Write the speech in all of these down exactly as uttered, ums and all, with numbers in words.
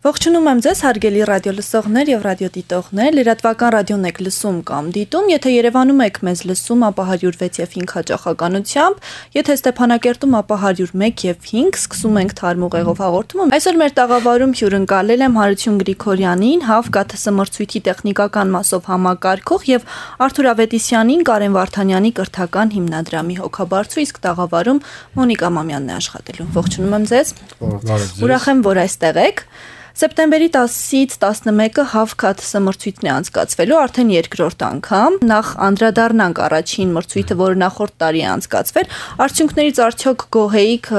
Ողջունում եմ ձեզ հարգելի ռադիոլսողներ եւ ռադիոդիտողներ, լրատվական ռադիոն եք լսում կամ դիտում, եթե Երևանում եք մեզ լսում, ապա հարյուր վեց եւ հինգ հաճախականությամբ, եթե Ստեփանակերտում, ապա հարյուր մեկ եւ հինգ, սկսում ենք Թարմ ուղեղով հաղորդումը։ Այսօր մեր տաղավարում հյուրընկալել եմ Հարություն Գրիգորյանին, ՀԱՎ ԿԹՍ մրցույթի տեխնիկական մասով համակարգող եւ Արթուր Ավետիսյանին, Կարեն Վարդանյանի կրթական հիմնադրամի հոգաբարձու, իսկ տաղավարում Մոնիկա Մամյանն է աշխատելու։ Ողջունում եմ ձեզ։ Ուրախ եմ, որ այստեղ եք։ Սեպտեմբերի տասից տասնմեկը ՀԱՎ ԿԹՍ մրցույթն է անցկացվելու արդեն երկրորդ անգամ, նախ անդրադառնանք առաջին մրցույթը, որը նախորդ տարի է անցկացվել, արդյունքներից արդյոք գոհ էիք,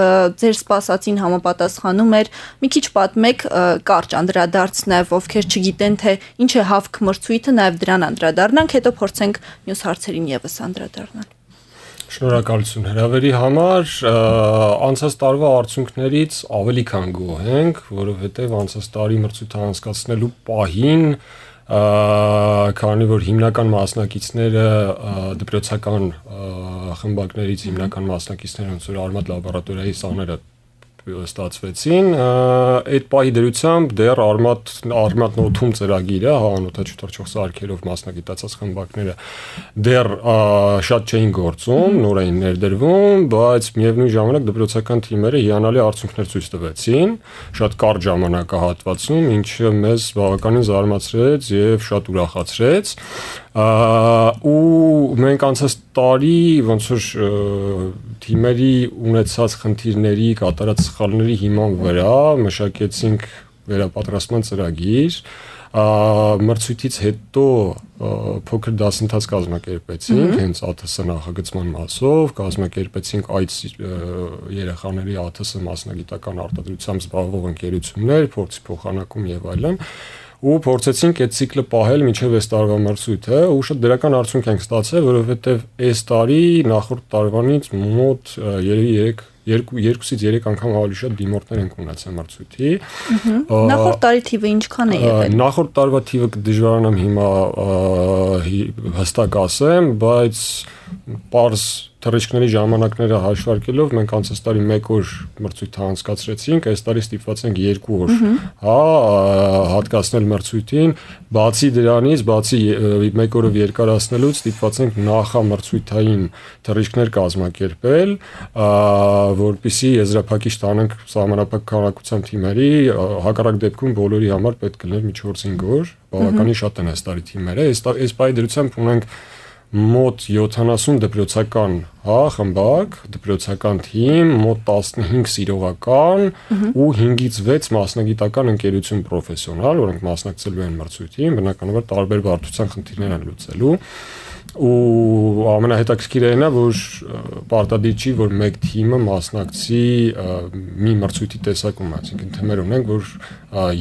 ձեր սպասածին համապատասխանում էր, մի քիչ պատմեք, կարճ անդրադարձնև, ովքեր չգիտեն, թե ինչ է ՀԱՎ մրցույթը, նաև դրան անդրադառնանք, հետո փորձենք մյուս հարցերին ևս անդրադառնալ։ Շնորհակալություն հրավերի համար, անցած տարվա արդյունքներից ավելի քան գոհ ենք, որովհետև անցած տարի մրցույթը անցկացնելու պահին, քանի որ հիմնական մասնակիցները դպրոցական խմբակներից հիմնական մասնակիցները ոնց որ Արմատ լաբորատորիայի սաները ստացվեցին, այդ պահի դրությամբ դեռ Արմատ Արմատ նոթում ծրագիրը, հա, անօթաչու սարքերով մասնագիտացած խմբակները դեռ շատ չէին գործում, նոր էին ներդրվում, բայց միևնույն ժամանակ դպրոցական թիմերը հիանալի արդյունքներ ցույց տվեցին, շատ կարճ ժամանակահատվածում, ինչը մեզ բավականին զարմացրեց եւ շատ ուրախացրեց։ Ու մենք անցած տարի ոնց որ թիմերի ունեցած խնդիրների, կատարած սխալների հիման վրա մշակեցինք վերապատրաստման ծրագիր, մրցույթից հետո փոքր դասընթաց կազմակերպեցինք, հենց ԱԹՍ նախագծման մասով, կազմակերպեցինք այդ երեխաների ԱԹՍ մասնագիտական արտադրությամբ զբաղվող ընկերություններ, փորձի փոխանակում եւ այլն, ու փորձեցինք այդ ցիկլը պահել մինչև այս տարվա մրցույթը, ու շատ դրական արդյունք ենք ստացել, որովհետև այս տարի նախորդ տարվանից մոտ երեք երկուսից երեք անգամ ավելի շատ դիմորդներ ենք ունեցել մրցույթի։ Նախորդ տարի թիվը ինչքան է եղել։ Նախորդ տարվա թիվը դժվարանամ հիմա հստակ ասեմ, բայց պարզ թռիչքների ժամանակները հաշվարկելով մենք անցած տարի մեկ օր մրցույթ անցկացրեցինք, այս տարի ստիպված ենք երկու օր, հա, հատկացնել մրցույթին, բացի դրանից, բացի մեկ օրով երկարացնելուց ստիպված ենք նախամրցույթային թռիչքներ կազմակերպել, որպեսզի եզրափակիչ տանենք սահմանափակ քանակությամբ թիմերի, հակառակ դեպքում բոլորի համար պետք կլիներ մի չորս-հինգ օր, բավականին շատ են այս տարի թիմերը, այս պահի դրությամբ ունենք մոտ յոթանասուն դպրոցական, հա, խմբակ, դպրոցական թիմ, մոտ տասնհինգ սիրողական ու հինգից վեց մասնագիտական ընկերություն պրոֆեսիոնալ, որոնք մասնակցելու են մրցույթին, բնականաբար տարբեր բարդության խնդիրներ են լուծելու, ու ամենահետաքրքիրը այն է, որ պարտադիր չի, որ մեկ թիմը մասնակցի մի մրցույթի տեսակում, այսինքն թիմեր ունենք, որ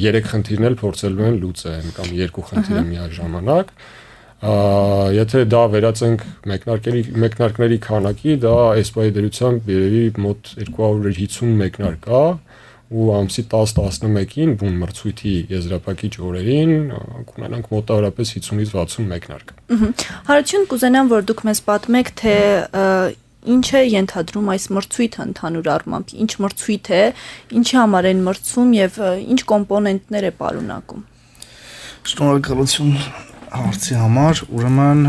երեք խնդիրներ փորձելու են լուծեն կամ երկու խնդիրը միաժամանակ։ Եթե դա վերածենք մեկնարկների մեկնարկների քանակի, դա այս պահի դրությամբ երևի մոտ երկու հարյուր հիսուն մեկնարկ կա, ու ամսի տաս-տասնմեկին բուն մրցույթի եզրափակիչ օրերին կունենանք մոտավորապես հիսունից վաթսուն մեկնարկ։ Հարություն, կուզենամ, որ դուք մեզ պատմեք, թե ինչ է ենթադրում այս մրցույթը ընդհանուր առմամբ, ինչ մրցույթ է, ինչի համար են մրցում եւ ինչ կոմպոնենտներ է պարունակում։ Շնորհակալություն հարցի համար, ուրեմն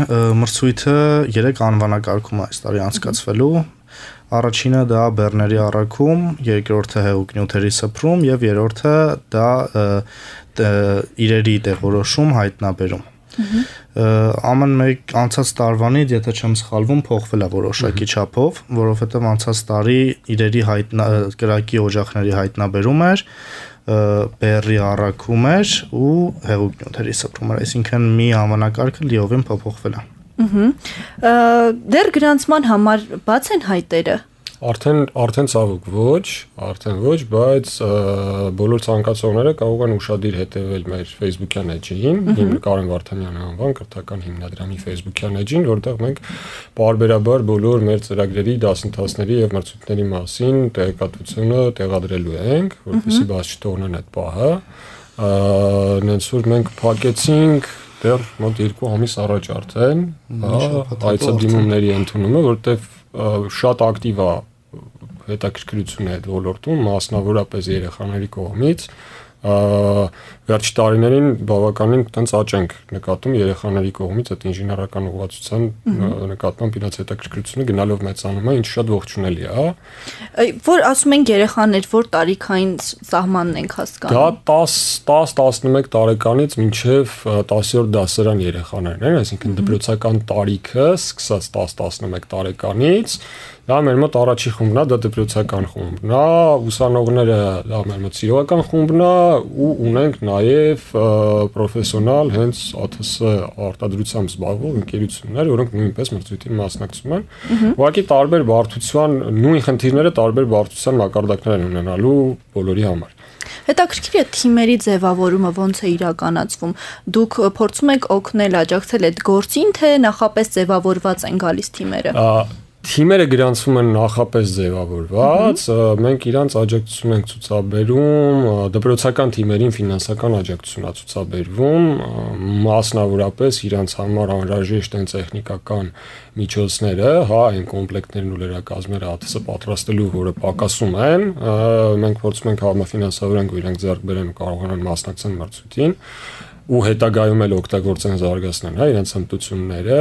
մրցույթը երեք անվանակարգում է այս տարի անցկացվելու, առաջինը դա բեռների առաքում, երկրորդը հեղուկ նյութերի սփռում եւ երրորդը դա իրերի տեղորոշում հայտնաբերում։ Ամեն մեկ անցած տարվանից, եթե չեմ սխալվում, փոխվել է որոշակի չափով, որովհետեւ անցած տարի իրերի կրակի օջախների հայտնաբերում էր, բեռի առաքում էր ու հեղուկ նյութերի սփռում էր, այսինքն մի անվանակարգը լիովին փոփոխվել է։ Դեռ գրանցման համար բաց են հայտերը։ Արդեն արդեն ցավոք ոչ, արդեն ոչ, բայց բոլոր ցանկացողները կարող են ուշադիր հետևել մեր Facebook-յան էջին, Կարեն Վարդանյանի անվան կրթական հիմնադրամի Facebook-յան էջին, որտեղ մենք պարբերաբար բոլոր մեր ծրագրերի, դասընթացների եւ մրցույթների մասին տեղեկատվությունը տեղադրելու ենք, որպեսզի բաց չթողնեն այդ պահը։ Նենց որ մենք փակեցինք դեռ մոտ երկու ամիս առաջ արդեն, այցադիմումների ընդունումը, որտեղ շատ ակտիվ է հետաքրքրություն է այդ ոլորտում, մասնավորապես երեխաների կողմից, վերջի տարիներին բավականին տենց աճ ենք նկատում երեխաների կողմից այդ ինժեներական ուղղվածության նկատմամբ իրաց հետաքրքրությունը գնալով մեծանում է, ինչը շատ ողջունելի է, հա։ Որ ասում են երեխաներ, որ տարիքային սահմանն ենք հասկանում։ Դա տաս տասնմեկ տարեկանից մինչև տասերորդ դասարան երեխաներն են, այսինքն դպրոցական տարիքը սկսած տաս տասնմեկ տարեկանից, դա մեր մոտ առաջի խումբն է, դա դպրոցական խումբն է, ուսանողները դա մեր մոտ սիրողական խումբն է ու ունենք նաև պրոֆեսիոնալ հենց ԱԹՍ արտադրությամբ զբաղվող ընկերություններ, որոնք նույնպես մրցույթին մասնակցում են։ Ուղղակի տարբեր բարդության նույն խնդիրները տարբեր բարդության մակարդակներ են ունենալու բոլորի համար։ Հետաքրքիր է թիմերի ձևավորումը ոնց է իրականացվում։ Դուք փորձում եք օգնել աջակցել այդ գործին, թե նախապես ձևավորված են գալիս թիմերը։ Թիմերը գրանցվում են նախապես ձևավորված, մենք իրանց աջակցություն ենք ցուցաբերում, դպրոցական թիմերին ֆինանսական աջակցություն է ցուցաբերվում, մասնավորապես իրանց համար անհրաժեշտ են տեխնիկական միջոցները, հա, այն կոմպլեկտներն ու լրակազմերը ԱԹՍ պատրաստելու, որը պակասում են, մենք փորձում ենք համաֆինանսավորենք, որ իրանք ձեռք բերեն ու կարողանան մասնակցել մրցույթին ու հետագայում էլ օգտագործեն զարգացնեն, հա, իրենց հմտությունները,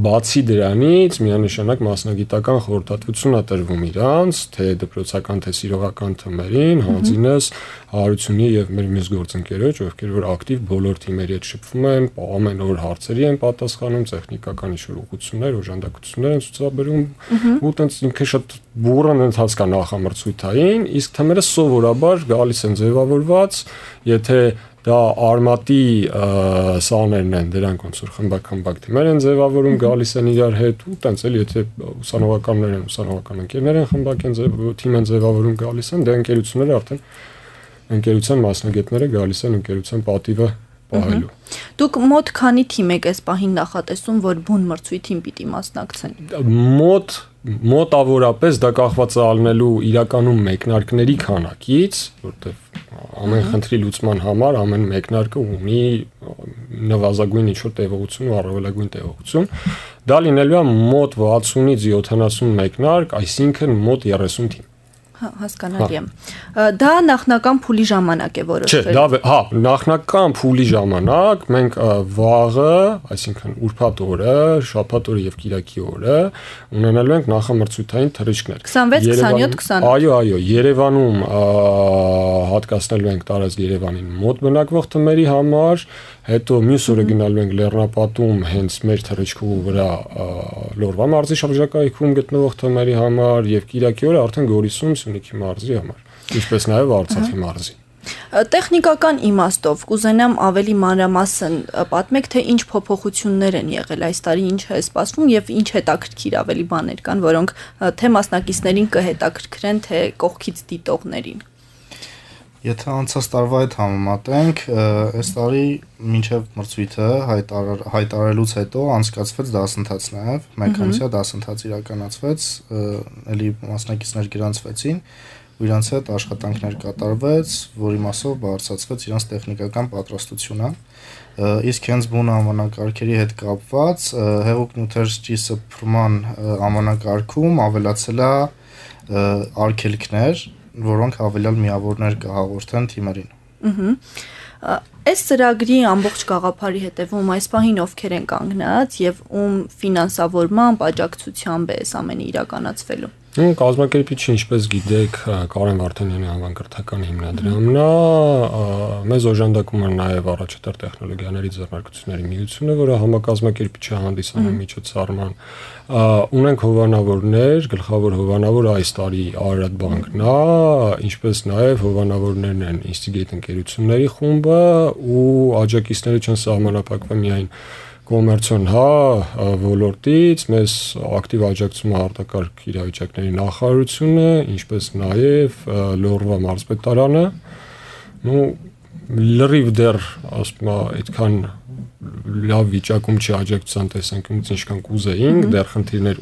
բացի դրանից միանշանակ մասնագիտական խորհրդատվություն է տրվում իրանց, թե դպրոցական, թե սիրողական թմերին, հանձինս Հարությունի եւ մեր մյուս գործընկերոջ, ովքեր որ ակտիվ բոլոր թիմերի հետ շփվում են, ամեն օր հարցերի են պատասխանում, տեխնիկական ինչ-որ ուղղություններ, օժանդակություններ են ցուցաբերում, ու տենց ինքը շատ բուրըն ընթացք է նախամրցույթային, իսկ թմերը սովորաբար գալիս են ձևավորված, եթե դա արմատի սաներն են, դրանք ոնց որ խմբակ-խմբակ թիմեր են ձևավորում, գալիս են իրար հետ ու տենց էլ եթե ուսանողականներ են, ուսանողական ընկերներ են խմբակ են թիմ են ձևավորում գալիս են, դե ընկերությունները արդեն ընկերության մասնագետները գալիս են ընկերության պատիվը պահելու։ Դուք մոտ քանի թիմ եք այս պահին նախատեսում, որ բուն մրցույթին պիտի մասնակցեն։ Մոտ մոտավորապես դա կախված է ալնելու իրականում մեկնարկների քանակից, որտեղ ամեն խնդրի լուծման համար ամեն մեկնարկը ունի նվազագույն ինչ-որ տևողություն ու առավելագույն տևողություն։ Դա լինելու է մոտ վաթսունից յոթանասուն մեկնարկ, այսինքն մոտ երեսուն թիմ։ Հասկանալի է։ Դա նախնական փուլի ժամանակ է որոշվել։ Չէ, դա հա, նախնական փուլի ժամանակ մենք վաղը, այսինքն ուրբաթ օրը, շաբաթ օրը եւ կիրակի օրը ունենալու ենք նախամրցութային թռիչքներ։ քսանվեց, քսանյոթ, քսանութ։ Այո, այո, Երևանում հատկացնելու ենք տարածք Երևանին մոտ բնակվող թմերի համար, հետո մյուս օրը գնալու ենք Լեռնապատում հենց մեր թռիչքու վրա Լոռվա մարզի շրջակայքում գտնվող թմերի համար եւ կիրակի օրը արդեն Գորիսում Սյունիքի մարզի համար, ինչպես նաեւ Արցախի մարզի։ Տեխնիկական իմաստով կուզենամ ավելի մանրամասն պատմեք, թե ինչ փոփոխություններ են եղել այս տարի, ինչ է սպասվում եւ ինչ հետաքրքիր ավելի բաներ կան, որոնք թե մասնակիցներին կհետաքրքրեն, թե կողքից դիտողներին։ Եթե անցած տարվա հետ համեմատենք, այս տարի մինչև մրցույթը հայտարարելուց հետո անցկացվեց դասընթաց նաև, մեկ ամսյա դասընթաց իրականացվեց, էլի մասնակիցներ գրանցվեցին, ու իրանց հետ աշխատանքներ կատարվեց, որի մասով բարձրացվեց իրանց տեխնիկական պատրաստությունը, իսկ հենց բուն անվանակարգերի հետ կապված հեղուկ նյութերի սփռման անվանակարգում ավելացել է արգելքներ, որոնք հավելյալ միավորներ կհաղորդեն թիմերին։ Ահա։ Այս ծրագրի ամբողջ գաղափարի հետևում այս պահին ովքեր են կանգնած եւ ում ֆինանսավորմամբ, աջակցությամբ է այս ամենը իրականացվելու։ Կազմակերպիչը, ինչպես գիտեք, Կարեն Վարդանյանի անվան կրթական հիմնադրամն է, մեզ օժանդակում է նաև առաջատար տեխնոլոգիաների ձեռնարկությունների միությունը, որը համակազմակերպիչը հանդիսանում միջոցառման, ունենք հովանավորներ, գլխավոր հովանավորը այս տարի Արարատ բանկն է, ինչպես նաև հովանավորներն են Instigate ընկերությունների խումբը ու աջակիցները չեն սահմանափակվում միայն կոմերցիոն հա ոլորտից, մեզ ակտիվ աջակցում է արտակարգ իրավիճակների նախարարությունը, ինչպես նաև Լոռվա մարզպետարանը, ну լրիվ դեռ ասում եմ այդքան լավ վիճակում չի աջակցության տեսանկյունից ինչքան կուզեինք, դեռ խնդիրներ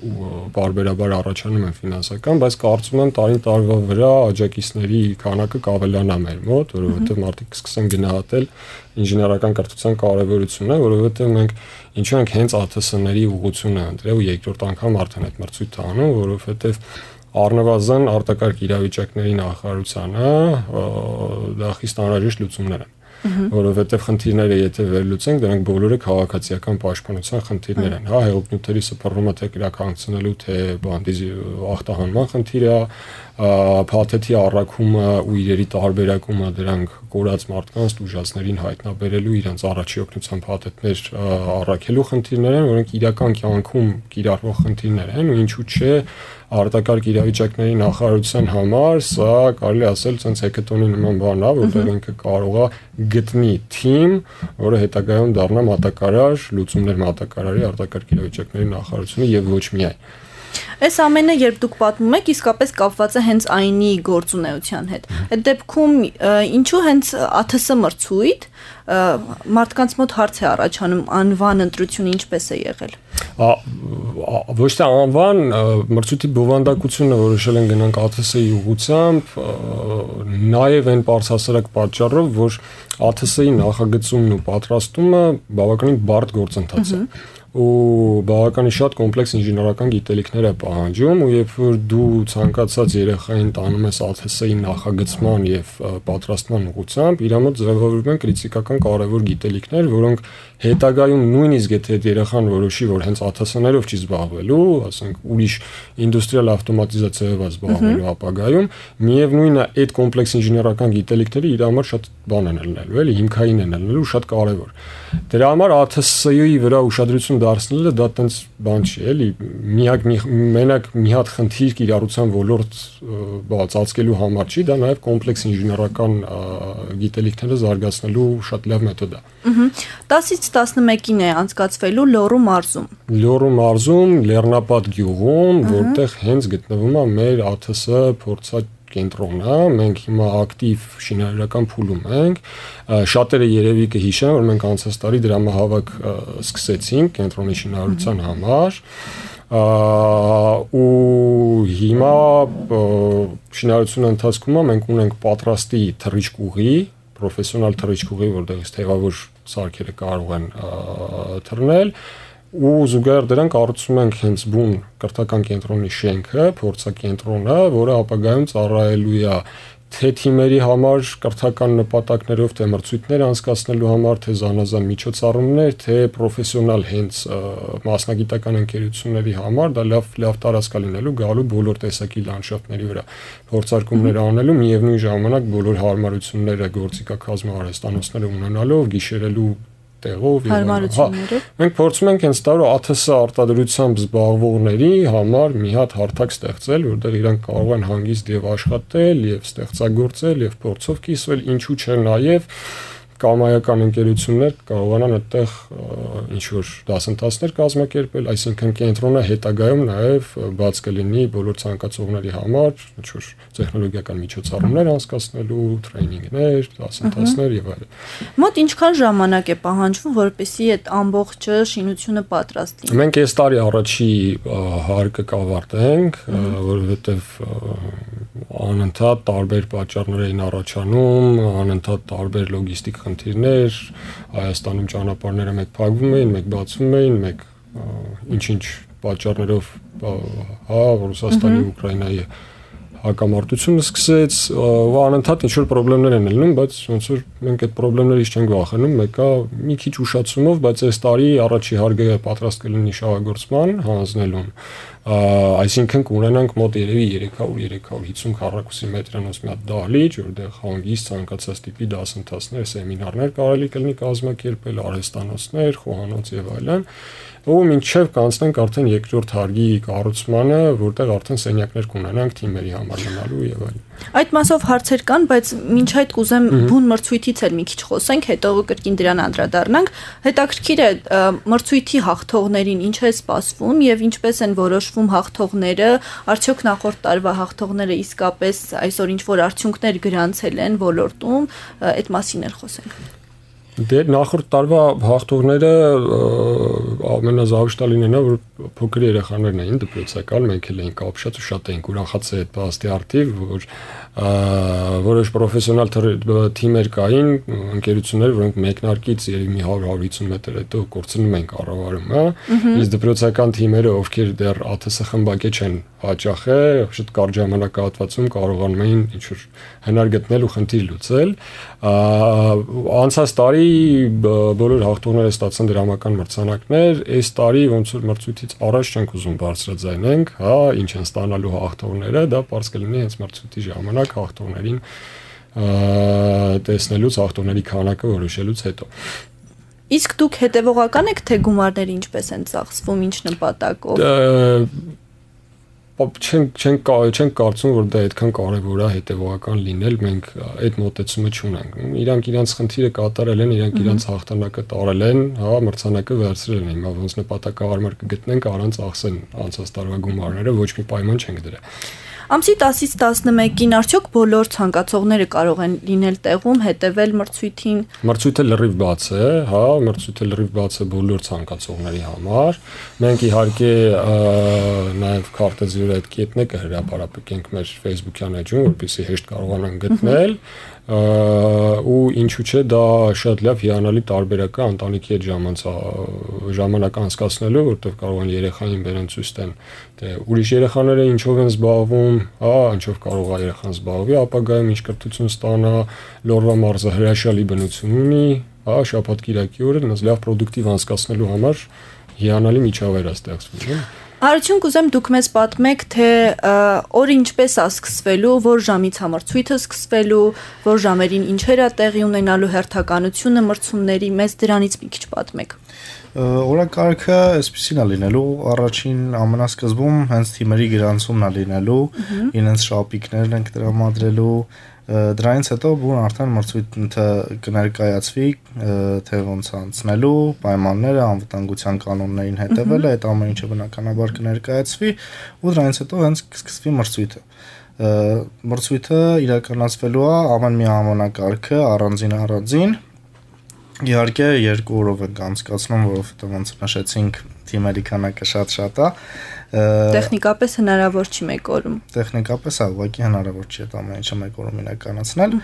բարբերաբար առաջանում են ֆինանսական, բայց կարծում եմ տարին տարվա վրա աջակիցների քանակը կավելանա մեր մոտ, որովհետև մարդիկ կսկսեն գնահատել ինժեներական կրթության կարևորությունը, որովհետև մենք ինչու ենք հենց ԱԹՍ-ների ուղղությունը ընտրել ու երկրորդ անգամ արդեն այդ մրցույթը անում, որովհետև առնվազն արտակարգ իրավիճակների նախարարությանը դա խիստ անհրաժեշտ լուծումներ են, որովհետև խնդիրները եթե վերլուծենք, դրանք բոլորը քաղաքացիական պաշտպանության խնդիրներ են, հա, հեղուկ նյութերի սփռումը թե կրակացնելու, թե բանդիզի ախտահանման խնդիրը, փաթեթի առաքումը ու իրերի տարբերակումը դրանք կորած մարդկանց դժվարներին հայտնաբերելու իրենց առաջի օգնության փաթեթներ առաքելու խնդիրներ են, որոնք իրական կյանքում կիրառվող խնդիրներ են ու ինչու՞ չէ արտակարգ իրավիճակների նախարարության համար սա կարելի ասել ցենց հեկատոնի նման բան է, որտեղ ինքը կարող է գտնի թիմ, որը հետագայում դառնա մատակարար, լուծումներ մատակարարի արտակարգ իրավիճակների նախարարությունը եւ ոչ միայն։ Այս ամենը երբ դուք պատմում եք, իսկապես կապված է հենց այնի գործունեության հետ։ Այդ դեպքում ինչու հենց ԱԹՍ մրցույթ մարդկանց մոտ հարց է առաջանում անվան ընտրությունը ինչպես է եղել։ Ոչ թե անվան մրցույթի բովանդակությունը որոշել են գնանք ԱԹՍ-ի ուղղությամբ, նաև այն բարձրահասարակ պատճառով, որ ԱԹՍ-ի նախագծումն ու պատրաստումը բավականին բարդ գործընթաց է։ Ու բավականին շատ կոմպլեքս ինժեներական գիտելիքներ է պահանջում ու երբ որ դու ցանկացած երեխային տանում ես ԱԹՍ-ի նախագծման եւ պատրաստման ուղղությամբ, իր մոտ ձևավորվում են կրիտիկական կարևոր գիտելիքներ, որոնք հետագայում նույնիսկ եթե երեխան որոշի, որ հենց ԱԹՍ-ներով չի զբաղվելու, ասենք ուրիշ ինդուստրիալ ավտոմատիզացիայով է զբաղվելու ապագայում, միևնույնն է այդ կոմպլեքս ինժեներական գիտելիքները իր համար շատ բան են ելնելու, էլի հիմքային են ելնելու, շատ կարևոր։ Դրա համար ԱԹՍ-ի վրա ուշադրություն դարձնելը դա տենց բան չի, էլի, միակ մենակ մի հատ խնդիր կիրառության ոլորտ բացածկելու համար չի, դա նաև կոմպլեքս ինժեներական գիտելիքները զարգացնելու շատ լավ մեթոդ է։ տասից տասնմեկին է անցկացվելու Լոռու մարզում։ Լոռու մարզում, Լեռնապատ գյուղում, որտեղ հենց գտնվում է մեր ԱԹՍ փորձած կենտրոնը, մենք հիմա ակտիվ շինարարական փուլում ենք, շատերը երևի կհիշեն, որ մենք անցած տարի դրամահավաք սկսեցինք կենտրոնի շինարարության համար, ու հիմա շինարարության ընթացքում մենք ունենք պատրաստի թռիչքուղի, պրոֆեսիոնալ թռիչքուղի, որտեղից թևավոր սարքերը կարող են թռնել, ու զուգահեռ դրան կառուցում ենք հենց բուն կրթական կենտրոնի շենքը, փորձակենտրոնը, որը ապագայում ծառայելու է թե թիմերի համար կրթական նպատակներով, թե մրցույթներ անցկացնելու համար, թե զանազան միջոցառումներ, թե պրոֆեսիոնալ հենց մասնագիտական ընկերությունների համար, դա լավ լավ տարածք է լինելու գալու բոլոր տեսակի լանդշաֆտների վրա փորձարկումներ անելու, միևնույն ժամանակ բոլոր հարմարությունները գործիքակազմի արհեստանոցները ունենալով, գիշերելու տեղով եւ մենք փորձում ենք հենց դա ԱԹՍ արտադրությամբ զբաղվողների համար մի հատ հարթակ ստեղծել, որտեղ իրանք կարող են հանգիստ եւ աշխատել եւ ստեղծագործել եւ փորձով կիսվել, ինչու՞ չէ նաեւ կամայական ընկերություններ կարողանան այդտեղ ինչ որ դասընթացներ կազմակերպել, այսինքն կենտրոնը հետագայում նաև բաց կլինի բոլոր ցանկացողների համար, ինչ որ տեխնոլոգիական միջոցառումներ անցկացնելու, տրեյնինգներ, դասընթացներ եւ այլն։ Մոտ ինչքան ժամանակ է պահանջվում, որպեսզի այդ ամբողջը շինությունը պատրաստ լինի։ Մենք այս տարի առաջի հարկը կավարտենք, որովհետեւ անընդհատ տարբեր պատճառներ էին առաջանում, անընդհատ տարբեր լոգիստիկ խնդիրներ, Հայաստանում ճանապարհները մեկ փակվում էին, մեկ բացվում էին, մեկ ինչ-ինչ պատճառներով, հա, Ռուսաստանի, Ուկրաինայի հակամարտությունը սկսեց, ու անընդհատ ինչ-որ խնդիրներ են ելնում, բայց ոնց որ մենք այդ խնդիրներից չենք վախենում, մեկը մի քիչ ուշացումով, բայց այս տարի առաջի հարկը պատրաստ կլինի շահագործման հանձնելուն, այսինքն կունենանք մոտ երևի երեք հարյուր երեք հարյուր հիսուն քառակուսի մետրանոց մի հատ դահլիճ, որտեղ հանգիստ ցանկացած տիպի դասընթացներ, սեմինարներ կարելի կլինի կազմակերպել, արհեստանոցներ, խոհանոց եւ այլն, ու մինչև կանցնենք արդեն երկրորդ հարկի կառուցմանը, որտեղ արդեն սենյակներ կունենանք թիմերի համար մնալու եւ այլն։ Այդ մասով հարցեր կան, բայց մինչ այդ կուզեմ բուն մրցույթից էլ մի քիչ խոսենք, հետո կրկին դրան անդրադառնանք։ Հետաքրքիր է մրցույթի հաղթողներին ինչ է սպասվում եւ ինչպես են որոշվում հաղթողները, արդյոք նախորդ տարվա հաղթողները իսկապես այսօր ինչ որ արդյունքներ գրանցել են ոլորտում, այդ մասին էլ խոսենք։ Դե նախորդ տարվա հաղթողները ամենազավշտալին են, որ փոքր երեխաներն էին դպրոցական, մենք էլ էինք ապշած ու շատ էինք ուրախացել այդ փաստի արդիվ, որ որոշ պրոֆեսիոնալ թիմեր կային, ընկերություններ, որոնք մեկնարկից երևի մի հարյուր հարյուր մետր հետո կորցնում են կառավարումը, իսկ դպրոցական թիմերը, ովքեր դեռ ԱԹՍ խմբակե չեն հաճախել, շատ կարճ ժամանակահատվածում կարողանում էին ինչ-որ հնար գտնել ու խնդիր լուծել։ Անցած տարի բոլոր հաղթողները ստացան դրամական մրցանակներ, այս տարի ոնց որ մրցույթից առաջ չենք ուզում բարձրաձայնենք, հա, ինչ են ստանալու հաղթողները, դա պարզ կլինի հենց մրցույթի ժամանակ հաղթողներին տեսնելուց, հաղթողների քանակը որոշելուց հետո։ Իսկ դուք հետևողական եք, թե գումարները ինչպես են ծախսվում, ինչ նպատակով։ Չեն չեն չեն կարծում, որ դա այդքան կարևոր է հետևողական լինել, մենք այդ մոտեցումը չունենք։ Իրանք իրանց խնդիրը կատարել են, իրանք իրանց հաղթանակը տարել են, հա, մրցանակը վերցրել են։ Հիմա ոնց նպատակահարմար կգտնենք, առանց աղսեն անցած տարվա գումարները, ոչ մի պայման չենք դրել։ Ամսի տասից տասնմեկին արդյոք բոլոր ցանկացողները կարող են լինել տեղում, հետևել մրցույթին։ Մրցույթը լրիվ բաց է, հա, մրցույթը լրիվ բաց է բոլոր ցանկացողների համար։ Մենք իհարկե նաև քարտեզի վրա այդ կետն է կհրապարակենք մեր Facebook-յան էջում, որպեսզի հեշտ կարողանան գտնել։ Ու ինչու՞ չէ, դա շատ լավ հիանալի տարբերակ է ընտանիքի հետ ժամանակ անցկացնելու, որտեղ կարող են երեխային բերեն ցույց տան, թե ուրիշ երեխաները ինչով են զբաղվում, հա, ինչով կարող է երեխան զբաղվի, ապագայում ինչ կրթություն ստանա, Լորվա մարզը հրաշալի բնություն ունի, հա, շաբաթ-կիրակի օրը նույնիսկ լավ պրոդուկտիվ անցկացնելու համար հիանալի միջավայր է ստեղծվում։ Հարություն կուզեմ դուք մեզ պատմեք, թե օրը ինչպես է սկսվելու, որ ժամից է մրցույթը սկսվելու, որ ժամերին ինչեր է տեղի ունենալու, հերթականությունը մրցումների, մեզ դրանից մի քիչ պատմեք։ Օրակարգը այսպեսին է լինելու, առաջին ամենասկզբում հենց թիմերի գրանցումն է լինելու, իրենց շապիկներն ենք տրամադրելու, դրանից հետո բուն արդեն մրցույթը կներկայացվի, թե ոնց անցնելու, պայմանները, անվտանգության կանոններին հետևելը, այդ ամեն ինչը բնականաբար կներկայացվի ու դրանից հետո հենց կսկսվի մրցույթը։ Մրցույթը իրականացվելու է ամեն մի անվանակարգը առանձին առանձին։ Իհարկե երկու օրով ենք անցկացնում, որովհետև ոնց նշեցինք, թիմերի քանակը շատ-շատ է։ Տեխնիկապես հնարավոր չի մեկ օրում։ Տեխնիկապես է, ուղղակի հնարավոր չի այդ ամեն ինչը մեկ օրում իրականացնել։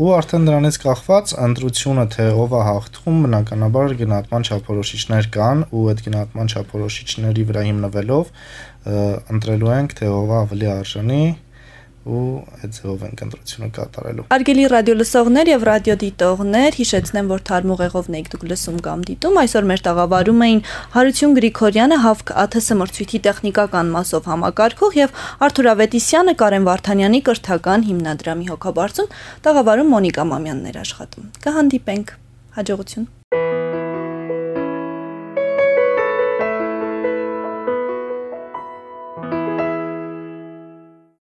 Ու արդեն դրանից կախված ընտրությունը, թե ով է հաղթում, բնականաբար գնահատման չափորոշիչներ կան, ու այդ գնահատման չափորոշիչների վրա հիմնվելով ընտրելու ենք, թե ով է ավելի արժանի ու այդ ձևով ենք ընտրությունը կատարելու։ Հարգելի ռադիոլսողներ եւ ռադիոդիտողներ, հիշեցնեմ, որ թարմ ուղեղովն եք դուք լսում կամ դիտում, այսօր մեր տաղավարում էին Հարություն Գրիգորյանը, ՀԱՎԿ ԱԹՍ մրցույթի տեխնիկական մասով համակարգող եւ Արթուր Ավետիսյանը, Կարեն Վարդանյանի կրթական հիմնադրամի հոգաբարձուն, տաղավարում Մոնիկա Մամյանն էր աշխատում։ Կհանդիպենք, հաջողություն։